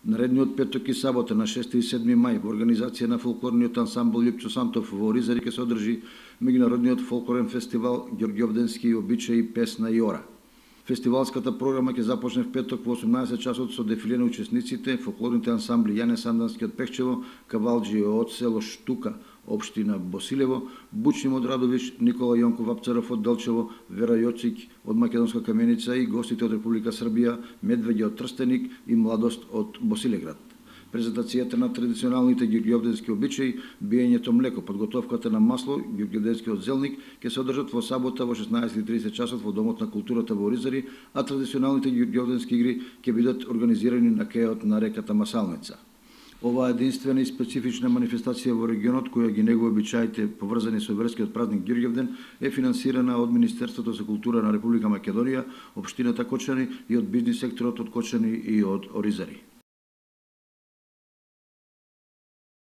Наредниот петок и сабота на 6 и 7 мај во организација на фолклорниот ансамбл Лјупчо Сантов во Оризари ќе се одржи меѓународниот фолклорен фестивал Ѓорѓовденски обичаи, песна и ора. Фестивалската програма ќе започне в петок во 18 часот со дефиле на учесниците, фолклорните ансамбли Јане Сандански од Пехчево, Кавалџи од село Штука, општина Босилево, Бучним од Радовиш, Никола Јонков Апцаров од Делчево, Вера Јоцик од Македонска Каменица и гостите од Република Србија, Медвеѓа од Трстеник и Младост од Босилеград. Презентацијата на традиционалните ѓорѓовденски обичаи, биењето млеко, подготовката на масло, ѓорѓовденскиот зелник ќе се одржат во сабота во 16:30 часот во Домот на културата во Оризари, а традиционалните ѓорѓовденски игри ќе бидат организирани на кејот на реката Масалница. Оваа единствена и специфична манифестација во регионот, која ги негува обичаите поврзани со верскиот празник Ѓорѓовден, е финансирана од Министерството за култура на Република Македонија, општината Кочани и од бизнис секторот од Кочани и од Оризари.